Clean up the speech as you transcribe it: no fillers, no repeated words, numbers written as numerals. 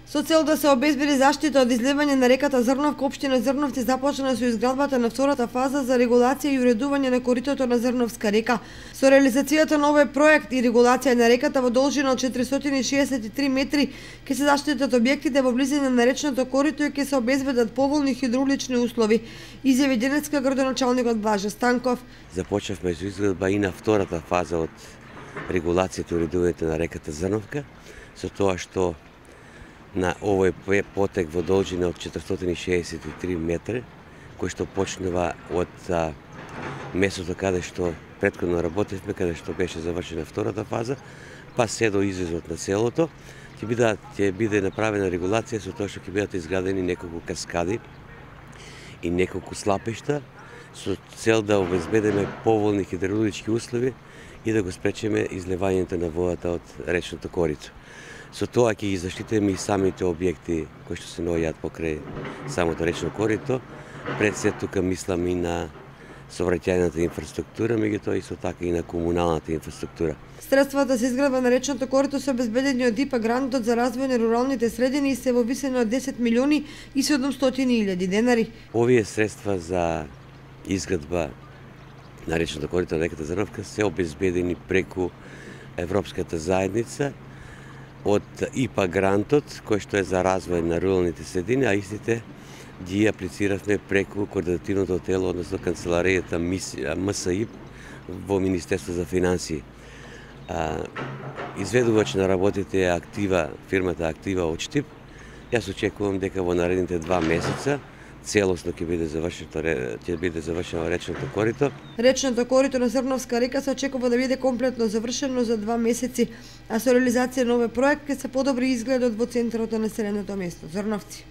Со цел да се обезбеди заштита од изливање на реката Зрновка, општина Зрновци започна со изградбата на втората фаза за регулација и уредување на коритото на Зрновска река. Со реализацијата на овој проект и регулација на реката во должина од 463 метри ќе се заштитат објектите во близина на речното корито и ќе се обезбедат поволни хидравлични услови, изјави денеска градоначалникот Блаже Станков. Започнавме со изградба и на втората фаза од регулацијата и уредувањето на реката Зрновка, со тоа што на овој потек во должина од 463 метри, кој што почнува од местото каде што претходно работевме, каде што беше завршена втората фаза, па се до излезот на селото, ќе биде направена регулација со тоа што ќе бидат изградени неколку каскади и неколку слапишта со цел да обезбедиме поволни хидравлички услови и да го спречиме изливањето на водата од речното корито. Со тоа ќе ги заштитиме и самите објекти кои што се наоѓаат покрај самото речно корито. Пред се тука мислам и на сообраќајната инфраструктура, меѓутоа исто така и на комуналната инфраструктура. Средствата за изградба на речното корито се обезбедени од ИПА грантот за развој на руралните средини и се во висина од 10 милиони и 700.000 денари. Овие средства за изградба на речното корито на реката Зрновка се обезбедени преку Европската заедница од ИПА грантот, кој што е за развој на руралните средини, а истите ги аплициравме преку координативното тело, односно канцеларијата МСИ во Министерство за финансии. Изведувач на работите е фирмата Актива од Штип. Јас очекувам дека во наредните 2 месеца целосно ќе биде завршено речното корито. Речното корито на Зрновска река се очекува да биде комплетно завршено за 2 месеци, а со реализација на овој проект ќе се подобри изгледот во центарот на населеното место Зрновци.